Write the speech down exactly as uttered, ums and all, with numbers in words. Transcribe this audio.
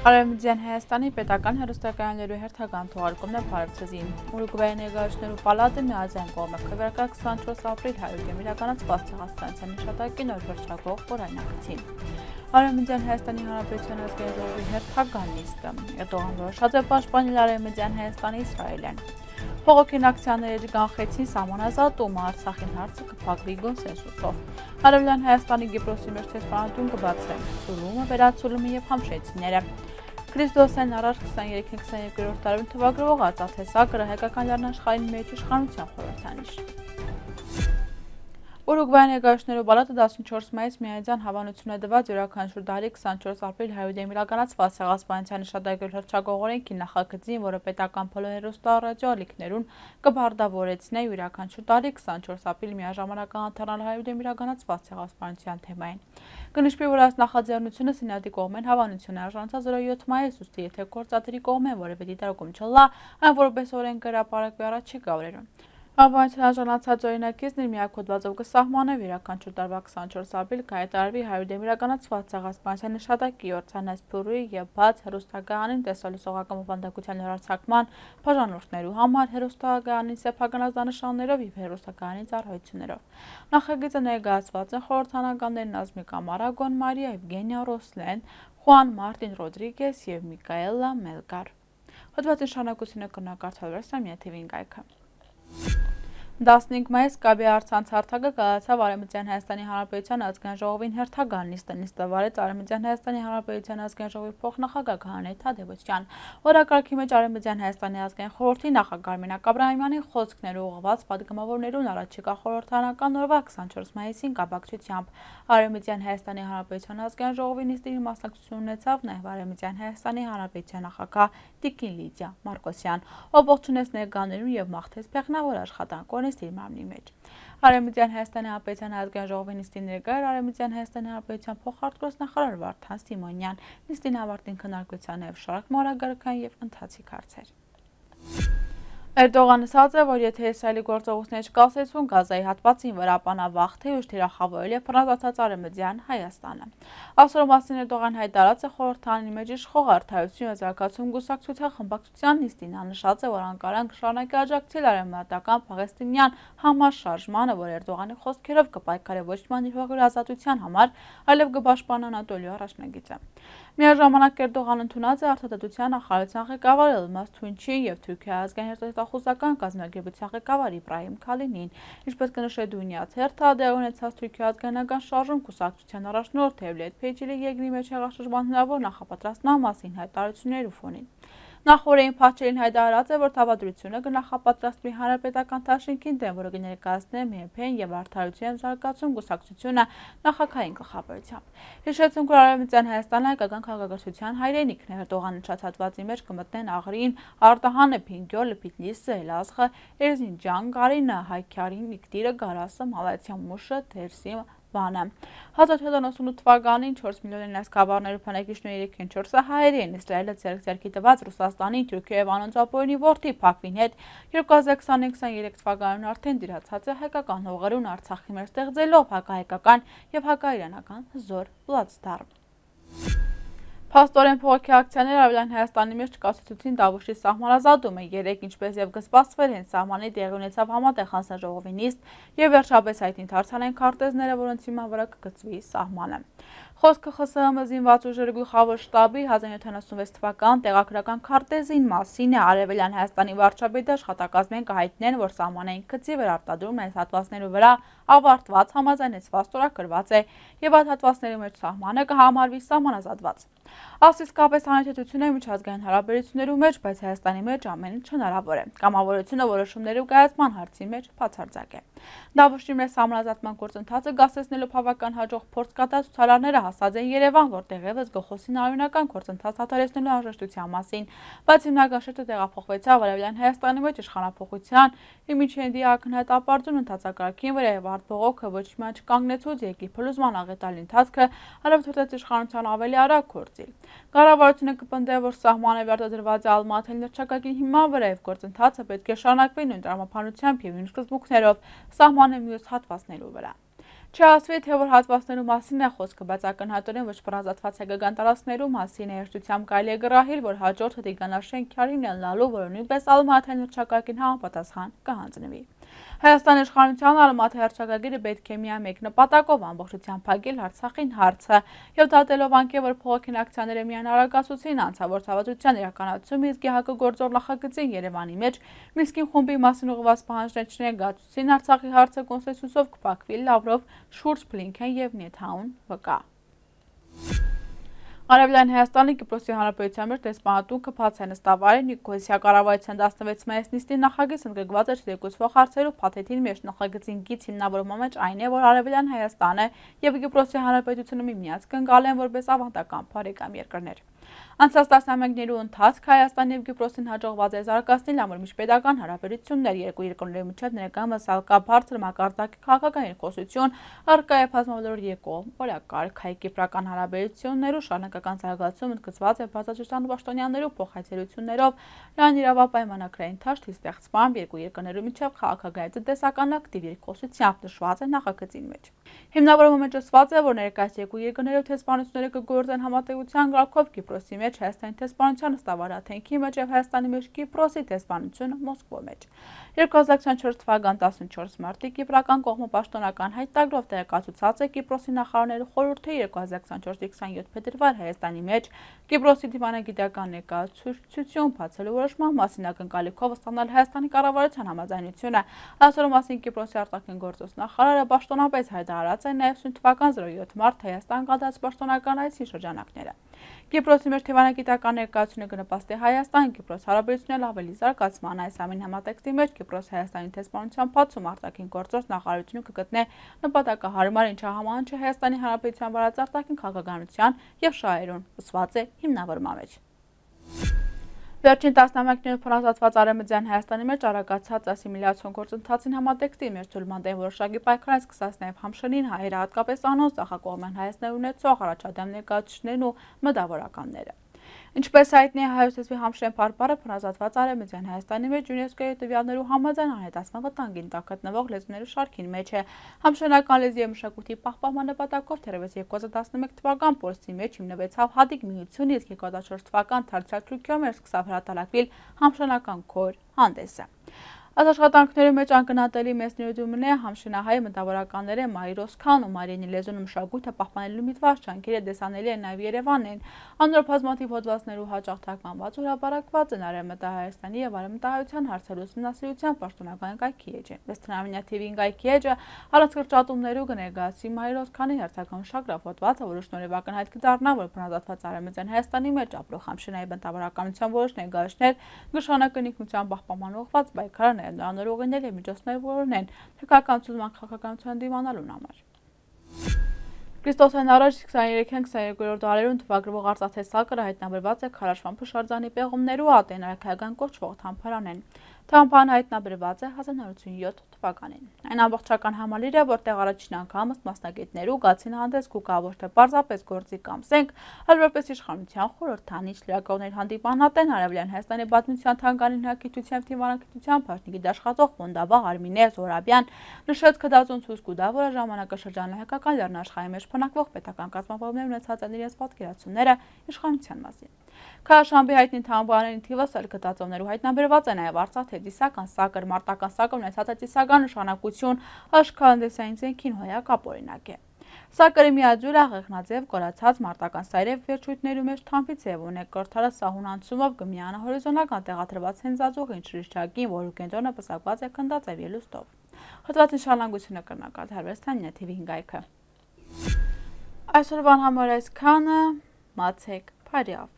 Արեւմտյան Հայաստանի պետական հեռուստակայաններու հերթական թողարկումն է բարեւ ձեզի։ Ուրուգուայի ներկայացուցիչներու պալատը միաձայն կողմը քվեարկայ քսանչորս ապրիլ հարիւտէն իրականացուած ցեղասպանութեան հիշատակին օր հռչակող օրայնակցին։ Արեւմտյան Հայաստանի Հանրապետութեան ազգային ժողովի հերթական նիստը։ Էրտողան որոշած է պաշտպանել Արեւմտյան Հայաստանի Իսրայէլէն։ Բողոքին ակցիաները կանխեցին սահմանազատումը, Արցախին հարցը կփակուի կոնսենսուսով։ Արեւելյան Հայաստանի Կիպրոսի մէջ դեսպանատուն կը բացուի, Ցուլումը, Վերացուլումը եւ Համշեցիները։ Քրիստոսէն առաջ քսաներկերորդ դարին թուագրուող արծաթ տեսակը հայկական լեռնաշխարհին մէջ իշխանութեան խորհրդանիշ։ Ուրուգուայի ներկայացուցիչներու պալատը տասնչորս մայիս միաձայն հաւանութիւն է տուած իւրաքանչիւր տարի քսանչորս ապրիլ հարիւտէն իրականացուած ցեղասպանութեան հիշատակի հռչակող օրէնքին նախագծին, որը պետական բոլոր հեռուստա-, ռադիո ալիքներուն կը պարտաւորեցնէ իւրաքանչիւր տարի քսանչորս ապրիլ միաժամանակ անդառնալ հարիւտէն իրականացուած ցեղասպանութեան թեմային։ Կը նշուի, որ այս նախաձեռնութիւնը Սենատի կողմէն հաւանութիւն է արժանացած օրը յոթ մայիս, ուստի եթէ գործադիրի կողմէն որեւէ դիտարկում չըլլայ, այն որպէս օրէնք կը հրապարակուի առաջիկայ օրերուն։ Հաւանութիւն արժանացած օրինակիցն իր միակ հոդվածով կը սահմանէ իւրաքանչիւր տարուայ քսանչորս ապրիլ կը հայտարարուի հարիւտէն իրականացուած ցեղասպանութեան հիշատակի օր, ցանաց փուռի եւ բաց հեռուստակայանին տեսալուսողական բովանդակութեան հեռարձակման բաժանորդներու համար հեռուստակայանին սեփական ազդանշաններով եւ հեռուստակայանին ծառայութիւններով։ Նախագիծը ներկայացուած են խորհրդանականներ Նազմիկ Ամարագոն, Մարիա Եվգենիա Ռոսլեն, Խուան Մարտին Ռոդրիգես եւ Միկայելա Մելկար։ Հոդվածի շարունակութիւնը կրնայ կարդալ Վերսամիա թի վի-ին կայքը։ Տասնհինգ մայիս Կապի առցանց հարթակը կայացաւ Արեւմտյան Հայաստանի Հանրապետութեան ազգային ժողովին հերթական նիստը։ Նիստը վարեց Արեւմտյան Հայաստանի Հանրապետութեան ազգային ժողովի փոխնախագահ Գահանե Թադեւոսեան։ Օրակարգի մէջ Արեւմտյան Հայաստանի ազգային խորհրդի նախագահ Արմինա Կապրահիմյանի խօսքներու ուղղուած պատգամաւորներուն առաջիկայ խորհրդարանական օրուայ քսանչորս մայիսին կապակցութեամբ Արեւմտյան Հայաստանի Հանրապետութեան ազգային ժողովի նիստին մասնակցութիւն ունեցաւ նաեւ Արեւմտյան Հայաստանի Հանրապետութեան նախագահ Տիկին Լիդիա Մարկոսեան, ով ողջունեց ներկաներուն եւ մաղթեց բեղնաւոր աշխատանք օրենսդիր մարմնի մէջ։ Արեւմտյան Հայաստանի Հանրապետութեան ազգային ժողովի նիստին ներկայ էր Արեւմտյան Հայաստանի Հանրապետութեան փոխարտգործնախարար Վարդան Սիմոնեան։ Նիստին ավարտին քննարկուեցան նաեւ շարք մօրակարգային եւ ընթացիկ հարցեր։ Էրտողան ըսած է, որ եթէ Իսրայելի գործողութիւնները չկասեցուն Գազայի հատուածին վրայ, ապա նա վաղ թէ ուշ թիրախաւորել է բռնազարդած Արեւմտեան Հայաստանը։ Ասոր մասին Էրտողան յայտարարած է խորհրդանին մէջ իշխող Արդարութիւն եւ Զարգացում կուսակցութեան խմբակցութեան նիստին։ Ան նշած է, որ Անկարան կը շարունակի աջակցել արեւմտական պաղեստինեան համաշարժմանը, որ Էրտողանի խօսքերով կը պայքարէ ոչմանի հողի ազատութեան համար, այլեւ կը պաշտպանէ Անատոլիոյ առաջնագիծը։ Միաժամանակ Էրտողան ընդունած է Արդարադատության նախարարութեան ղեկավար Ելմազ Թունչին եւ Թուրքիոյ ազգային հերթախուզական կազմակերպութեան ղեկավար Իբրահիմ Քալինին։ Ինչպես կը նշէ Դունիա թերթը, տեղի ունեցած Թուրքիոյ ազգայնական շարժում կուսակցութեան առաջնորդ Դեւլեթ Փեչիլի երկրի մէջ հեղաշրջման հնարաւոր նախապատրաստման մասին յայտարարութիւններու ֆոնին։ Նախօրէին Փաչելին յայտարարած է, որ դաւադրութիւնը կը նախապատրաստուի Հանրապետական դաշինքին դէմ, որը կը ներկայացնէ Մհ Փ-ն եւ Արդարութիւն եւ Զարգացում կուսակցութիւնը նախագահին գլխավորությամբ։ Յիշեցնենք, որ Արեւմտյան Հայաստանը հայկական քաղաքակրթութեան հայրենիքն է։ Էրտողան նշած հատուածի մէջ կը մտնեն Աղրին, Արտահանը, Փինկիոլը, Փիթլիսը, Էլազղը, Էրզինջան, Կարինը, Հայքարին, Իգդիրը, Գարասը, Մալաթիա, Մուշը, Դերսի, Վանը։ Հազար յոթ հարյուր ութսունութ թվականին չորս միլիոնին այս գավառներու բնակիչներու երեքին չորսը հայեր են։ Իսրայէլը ձեռք ձեռքի տուած Ռուսաստանին, Թուրքիոյ եւ անոնց ապօրինի որդի Փակվին հետ երկու հազար քսանինը քսաներեք թվականին արդէն դիրացած է հայկական հողերուն, Արցախի մէջ ստեղծելով հակահայկական եւ հակաիրանական զոր պլացդարմ։ Փաստօրէն բողոքի ակցիաները Արեւելյան Հայաստանի մէջ չկասեցուցին Դավուշի սահմանազատումը։ Երեկ, ինչպես եւ կը սպասուէր, հենց սահմանի տեղի ունեցաւ համատեղ հանձնաժողովի նիստ եւ վերջապես այդ ընթացան այն քարտեզները, որոնց հիման վրայ կը գծուի սահմանը։ Խոսքը Խ Ս Հ Մ զինված ուժերու գլխաւոր շտաբի հազար յոթ հարյուր ութսունվեց թվական տեղագրական քարտեզին մասին է։ Արեւելյան Հայաստանի վարչապետի աշխատակազմէն կը հայտնեն, որ սահմանային գծի վերարտադրումն այս հատուածներու վրայ ավարտուած, համաձայնեցված, ստորագրուած է եւ այդ հատուածներու մէջ սահմանը կը համարուի սահմանազատուած։ Աստ իսկապես անհեթեթութիւն է միջազգային հարաբերություններու մէջ, բայց Հայաստանի մէջ ամեն ինչ հնարաւոր է։ Կամավորութիւնը որոշումներու կայացման հարցի մէջ բացարձակ է։ Դավուշի մէջ սահմանազատման գործընթացը կասեցնելու բաւական յաջող փորձ կատարած ցուցարարները հասած են Երեւան, որտեղ եւս կը խօսին արիւնական գործընթաց դադարեցնելու անհրաժեշտութեան մասին, բայց հիմնական շեշտը տեղափոխուեցաւ Արեւելյան Հայաստանի մէջ իշխանափոխութեան Իմիջինդի ակնհայտ ապարդյուն ընթացակարգին վրայ եւ արդ բողոքը ոչ միայն չկանգնեցուց երկրի փլուզման աղետալի ընթացքը, այլեւ թողեց իշխանութեան ավելի արագ գործիլ։ Կառավարութիւնը կը պնդէ, որ սահմանը վերարտադրուած է Ալմատայի հռչակագին հիման վրայ եւ գործընթացը պէտք է շարունակուի նոյն տրամաբանությամբ եւ նոյն սկզբունքներով սահմանի միւս հատուածներու վրայ։ Չի ասուի, թե որ հատուածներու մասին է խօսքը, բայց ակնհայտօրէն ոչ բռնազատված հայկական տարածքներու մասին է։ Հեշտությամբ կարելի է կռահել, որ հաջորդը Տիգրան Շէնքիարին ըլլալու, որը նոյնպէս Ալմատային հռչակագին համապատասխան կը հանձնուի։ Հայաստանի իշխանութեան Ալմատայի հռչակագիրը պէտք է միայն մէկ նպատակով ամբողջութեան փակել Արցախին հարցը եւ դատելով անկէ, որ փողոքին ակցիաները միայն արագացուցին անցաւոր ցաւածութեան իրականացումը, իսկ յակը գործող նախագծին Երեւանի մէջ Մինսկին խումբի մասին ուղղուած պահանջներ չներկայացուցին, Արցախի հարցը կոնսենսուսով կփակուի, Լավրով, Շուրց, Բլինքեն եւ Նեթանյահուն վկայ։ Արեւելյան Հայաստանի Կիպրոսի Հանրապետութեան մէջ դեսպանատունքը բաց է նստաւ Արի Նիկոյոսի կառավարութեան տասնվեց մայիս նիստին նախագիծ ընդգրկուած է չերկուցվող հարցերու փաթեթին մէջ։ Նախագծին գիծ հիմնավորման մէջ այն է, որ Արեւելյան Հայաստանը եւ Կիպրոսի Հանրապետութիւնը միմյանց կընկալեն որպէս աւանդական բարեկամ երկրներ։ Անցած տասնամյակներու ընթացք Հայաստան եւ Կիպրոսին յաջողուած է զարգացնել ամրմիշտ պետական հարաբերություններ։ Երկու երկրներու միջեւ ներկայումս ալ կայ բարձր մակարդակի քաղաքական երկխօսութիւն, առկայ է բազմավարոր երկկողմ օրակարգ։ Հայ-կիպրական հարաբերություններու շարունակական զարգացումը ընդգծուած է բարձրաստիճան պաշտոնյաներու փոխայցելություններով, լայն իրավապայմանագրային դաշտի ստեղծմամբ, երկու երկրներու միջեւ քաղաքական եւ տնտեսական ակտիվ երկխօսությամբ, նշուած է նախագծին մէջ։ Հիմնավորումը մէջ ասուած է, որ ներկայիս երկու երկրներու դեսպանությունները կը գործեն համատեղութեան կարգով Կիպրոսի մէջ Հայաստանի դեսպանութեան նստավարաթենքի մէջ եւ Հայաստանի մէջ Կիպրոսի դեսպանությունը Մոսկվոյ մէջ։ Երկու հազար քսանչորս թվական տասնչորս մարտի կիպրական կողմը պաշտոնական հայտագրով տեղեկացուցած է Կիպրոսի նախարարներու խորհուրդը երկու հազար քսանչորսի քսանյոթ փետրուար Հայաստանի մէջ Կիպրոսի դիվանագիտական ներկայացուցչութիւն բացելու որոշման մասին ակնկալիքով ստանալ Հայաստանի կառավարութեան համաձայնութիւնը։ Այսօր մասին Կիպրոսի արտաքին գործոց նախարարը պաշտոնապես հայտարարած է նաեւ սոյն թվական զրոյոթ մարտ Հայաստան կատարած պաշտոնական այցի շրջանակները։ Կիպրոսի մէջ դիվանագիտական ներկայացումը կը նպաստի Հայաստան-Կիպրոս հարաբերություններու աւելի զարգացման։ Այս ամին համատեքստի մէջ Կիպրոս Հայաստանի դեսպանութեան բացում արտաքին գործոց նախարարությունը կը գտնէ նպատակահարմար, ինչը համահունչ է Հայաստանի Հանրապետութեան վարած արտաքին քաղաքականութեան եւ շահերուն, ըսուած է հիմնավորման մէջ։ Վերջին տասնամյակներու փռազատուած Արեւմտեան Հայաստանի մէջ արագացած ասիմիլիացիոն գործընթացին համատեքստի մէջ թուլմանդեն որոշակի պայքարան սկսած նաեւ Համշենին հայերը, հատկապես անոնց ձախակողմէն հայացքներ ունեցող առաջադեմ ներկայացուցիչներն ու մտավորականները։ Ինչպես հայտնի է, հայոց լեզուի Համշեն բարբառը փռազատուած Արեւմտեան Հայաստանի մէջ ЮՆԵՍԿՕ-ի տուեալներու համաձայն անհետացման վտանգին տակ գտնուող լեզուներու շարքին մէջ է։ Համշենական լեզուի եւ մշակոյթի պահպանման նպատակով թերեւս երկու հազար տասնմեկ թվական փորձի մէջ հիմնուեցաւ հատիկ միութիւնը, իսկ երկու հազար չորս թվական դարձեալ Թուրքիոյ մէջ սկսաւ հրատարակուիլ Համշենական կոր հանդէսը։ Այս աշխատանքներու մէջ անկնատելի մեծ ներդրում ունի համշենահայ մտավորականներէն Մայր Օսքան ու Մարիինի լեզուն ու մշակոյթը պահպանելու միտված ջանքերը տեսանելի են նաեւ Երեւանէն։ Անոր բազմաթիւ հոդվածներու յաճախ թարգմանուած ու հրապարակուած են Արեւմտահայաստանի եւ արեւմտահայութեան հարցերու ուսումնասիրութեան պաշտոնական կայքի էջը։ Մեծ Տնամինյա թի վի-ին կայքի էջը առանց կրճատումներու կը ներկայացուի Մայր Օսքանի հերթական մշակրաւ հոդվածը, որը շնորհիվ ակնհայտ կը դառնայ, որ բռնազատուած Արեւմտեան Հայաստանի մէջ ապրող համշենահայ մտավորականութեան որոշ ներկայացուցիչներ նշանակը ինքնութեան պահպանման ուղղուած պայքարը, նաեւ նորանոր ուղիներ եւ միջոցներ որոնեն թրքական ցուցման քաղաքականության դիմանալուն համար։ Քրիստոսէն առաջ քսաներեքէն քսաներկուերորդ դարերուն թվագրուող արծաթե սակրը հայտնաբերուած է Քարաշվան Փշարձանի պեղումներու ատեն արքայական կոչուող թամբարանեն։ Թամբարանը հայտնաբերուած է հազար նոյ հարյուր յոթ թվականին։ Այն ամբողջական համալիր է, որտեղ առաջին անգամ ըստ մասնագետներու գացին հանդես կու գայ ոչ թե պարզապես գործի կամ զենք, այլ որպես իշխանության խորհրդանիշ։ Լրագրողներ հանդիպան ատեն Արեւելյան Հայաստանի պատմության թանգարանի հնագիտության թիմանագիտության բաժնի գիտաշխատող Պոնտաբաղ Արմինե Զորաբեան նշեց, գտածուն ցույց կու տայ, որ ժամանակաշրջանը հայկական լեռնաշխարհի մէջ բնակվող պետական կազմավորումներ ունեցած են իրենց պատկերացումները իշխանության մասին։ Քարաշամբի հայտնի թամբարանին թիվս ալ գտածոներու հայտնաբերուած է նաև արծաթե ծիսական սակր, մարտական սակը ունեցած է ծիսական նշանակություն, աշքանտեսային զենքին հոյակապ օրինակ է։ Սակրի միաձուլը աղեղնաձև կորացած մարտական սայրեր վերջույթներու մէջ թամբի ձև ունի, կրթարը սահուն անցումով կը միանա հորիզոնական տեղադրված հենզաձողին շրիշջակին, որու կենտրոնը պսակուած է գնդաձև ելուստով։ Հոդվածին շարունակությունը կրնակ արդարվեստանյա թի վի հինգ այքը։ Այսօրվան համար այսքանը, մացեք բարիով։